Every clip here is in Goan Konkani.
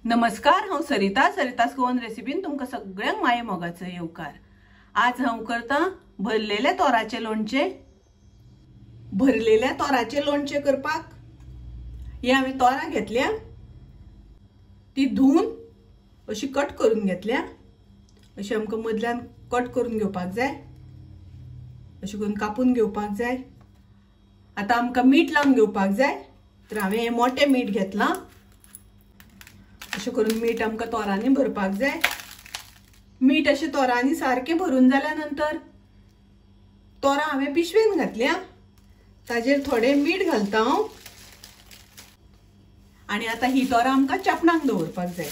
नमस्कार, हांव सरिता, सरितास गोवन रेसिपीन तुमकां सगळ्यांक माये मोगाचो येवकार। आज हांव करता भरलेल्या तोराचें लोणचें। भरलेल्या तोराचें लोणचें करपाक हे हांवें तोरां घेतल्या, ती धुवन अशी कट करून घेतल्या। अशी आमकां मदल्यान कट करून घेवपाक जाय, अशें करून कापून घेवपाक जाय। आतां आमकां मीठ लावन घेवपाक जाय, तर हांवें हें मोटें मीठ घेतलां। अशें करून मीठ आमकां तोरांनी भरपाक जाय। मीठ अशें तोरांनी सारकें भरून जाल्या नंतर तोरां हांवें पिशवेन घातल्या, ताजेर थोडें मीठ घालता हांव। आनी आतां ही तोरां आमकां चेपणाक दवरपाक जाय।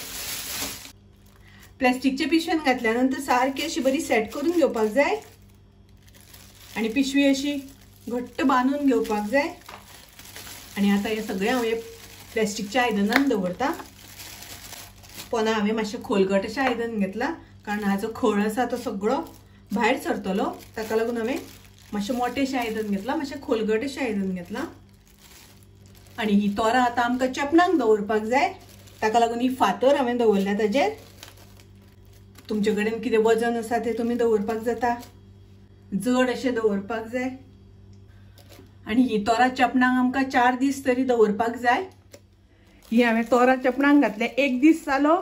प्लास्टिकच्या पिशवेन घातल्या नंतर सारकी अशी बरी सेट करून घेवपाक जाय आनी पिशवी अशी घट्ट बांदून घेवपाक जाय। आनी आतां हें सगळें हांव हे प्लास्टिकच्या आयदनान दवरता। पोना हांवें मातशें खोलगट अशें आयदन घेतलां, कारण हाजो खळ आसा तो सगळो भायर सरतलो, ताका लागून हांवें मातशें मोटेशें आयदन घेतलां, मातशें खोलगट अशें आयदन घेतलां। आनी ही तोरां आतां आमकां चेपणाक दवरपाक जाय, ताका लागून ही फातर हांवें दवरल्या ताजेर। तुमचे कडेन कितें वजन आसा तें तुमी दवरपाक जाता, जड अशें दवरपाक जाय। आनी ही तोरां चेपणाक आमकां 4 दीस तरी दवरपाक जाय। ही हांवें तोरां चेपणाक घातल्या, 1 दीस जालो।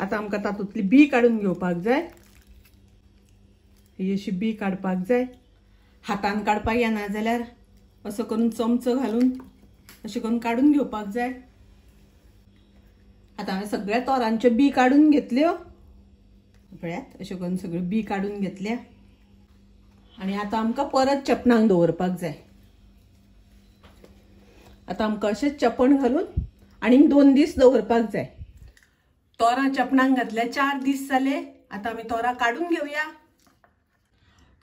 आतां आमकां तातूंतली बी काडून घेवपाक जाय। ही अशी बी काडपाक जाय, हातान काडपाक येना जाल्यार असो करून चमचो घालून अशें करून काडून घेवपाक जाय। आतां हांवें सगळ्या तोरांच्यो बी काडून घेतल्यो, पळयात अशें करून सगळ्यो बी काडून घेतल्या। आनी आतां आमकां परत चेपणाक दवरपाक जाय। आतां आमकां अशें चेपण घालून आनीक 2 दीस दवरपाक जाय। तोरां चेपणाक घातल्या 4 दीस जाले, आतां आमी तोरां काडून घेवया।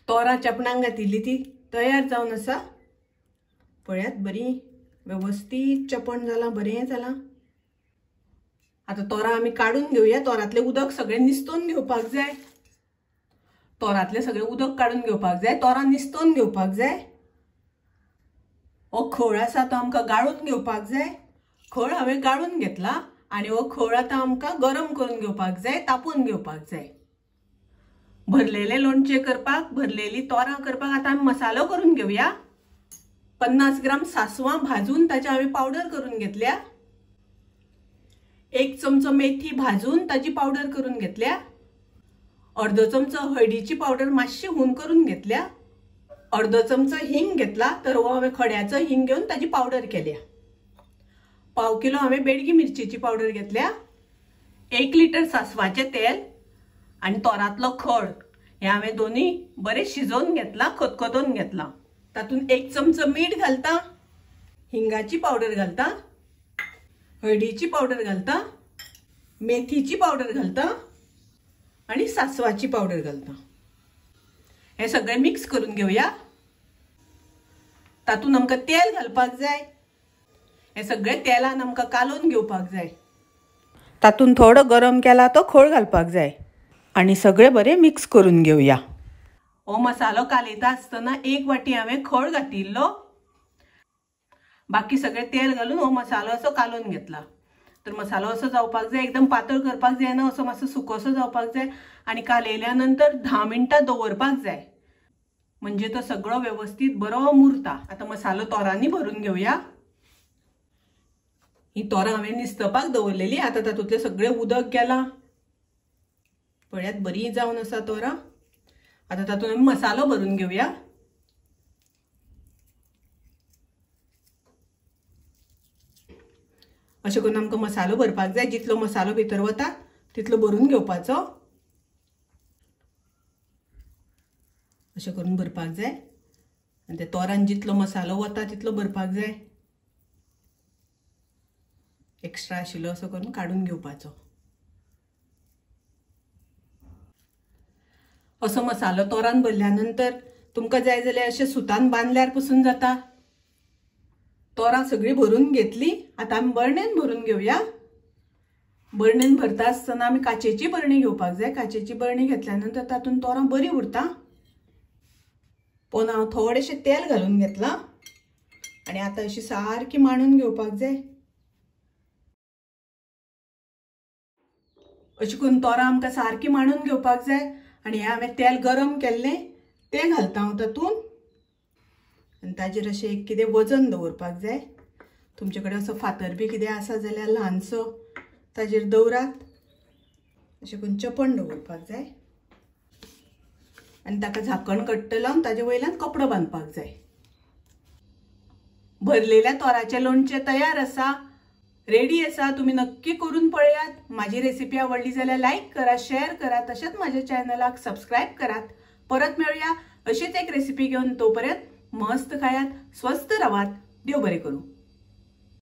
तोरां चेपणाक घातिल्ली ती तयार जावन आसा, पळयात बरी वेवस्थीत चेपण जालां, बरें जालां। आतां तोरां आमी काडून घेवया। तोरांतलें उदक सगळें निस्तोवन घेवपाक जाय, तोरांतलें सगळें उदक काडून घेवपाक जाय, तोरां निस्तोवन घेवपाक जाय। हो खळ आसा तो आमकां गाळून घेवपाक जाय। खळ हांवें गाळून घेतला आनी हो खळ आतां आमकां गरम करून घेवपाक जाय, तापोवन घेवपाक जाय। भरलेले लोणचें करपाक, भरलेली तोरां करपाक आतां आमी मसालो करून घेवया। 50 ग्राम सासवां भाजून ताची हांवें पावडर करून घेतल्या। 1 चमचो मेथी भाजून ताची पावडर करून घेतल्या। अर्दो चमचो हळदीची पावडर मातशी हून करून घेतल्या। अर्दो चमचो हिंग घेतला, तर हो हांवें खड्याचो हिंग घेवन ताची पावडर केल्या। 1/4 किलो हांवें बेडगी मिरचेची पावडर घेतल्या। 1 लिटर सासवाचें तेल आनी तोरांतलो खळ हे हांवें दोनूय बरें शिजोवन घेतला, खतखतोवन घेतला। तातूंत 1 चमचो मीठ घालता, हिंगाची पावडर घालता, हळदीची पावडर घालता, मेथीची पावडर घालता आनी सासवाची पावडर घालता। हे सगळें मिक्स करून घेवया। तातूंत आमकां तेल घालपाक जाय। हे सगळें तेलान आमकां कालोवन घेवपाक जाय। तातूंत थोडो गरम केला तो खळ घालपाक जाय आनी सगळें बरें मिक्स करून घेवया। हो मसालो कालयता आसतना 1 वाटी हांवें खळ घातिल्लो, बाकी सगळें तेल घालून हो मसालो असो कालोवन घेतला। तर मसालो असो जावपाक जाय, एकदम पातळ करपाक जायना, असो मातसो सुकोसो जावपाक जाय। आनी कालयल्या नंतर 10 मिनटां दवरपाक जाय, म्हणजे तो सगळो वेवस्थीत बरो मुरता। आतां मसालो तोरांनी भरून घेवया। ही तोरां हांवें निस्तपाक दवरलेली, आतां तातूंतलें सगळें उदक गेलां, पळयात बरी जावन आसा तोरां। आतां तातूंत आमी मसालो भरून घेवया। अशें करून आमकां मसालो भरपाक जाय, जितलो मसालो भितर वता तितलो भरून घेवपाचो। अशें करून भरपाक जाय आनी ते तोरान जितलो मसालो वता तितलो भरपाक जाय। एक्स्ट्रा आशिल्लो असो करून काडून घेवपाचो। असो मसालो तोरान भरल्या नंतर तुमकां जाय जाल्यार अशें सुतान बांदल्यार पसून जाता। तोरां सगळीं भरून घेतली, आतां आमी बरणेन भरून घेवया। बरणेन भरता आसतना आमी काचेची बरणी घेवपाक जाय। काचेची बरणी घेतल्या नंतर तातूंत तोरां बरी उरता। पोना हांव थोडेशें तेल घालून घेतलां आनी आतां अशी सारकी मांडून घेवपाक जाय। अशें करून तोरां आमकां सारकी मांडून घेवपाक जाय. आनी हें हांवें तेल गरम केल्लें तें घालता हांव तातूंत. आनी ताजेर अशें एक कितें वजन दवरपाक जाय. तुमचे कडेन असो फातर बी कितें आसा जाल्यार ल्हानसो ताजेर दवरात. अशें करून चेपण दवरपाक जाय आनी ताका झाकण घट्ट लावन ताजे वयल्यान कपडो बांदपाक जाय. भरलेल्या तोराचें लोणचें तयार आसा, रेडी आसा. तुमी नक्की करून पळयात. माझी रेसिपी आवडली जाल्यार लायक करा, शेअर करा, तशेंच माझ्या चॅनलाक सबस्क्रायब करात. परत मेळुया अशीच एक रेसिपी घेवन. तोपर्यंत मस्त खायात, स्वस्थ रावात. देव बरें करूं.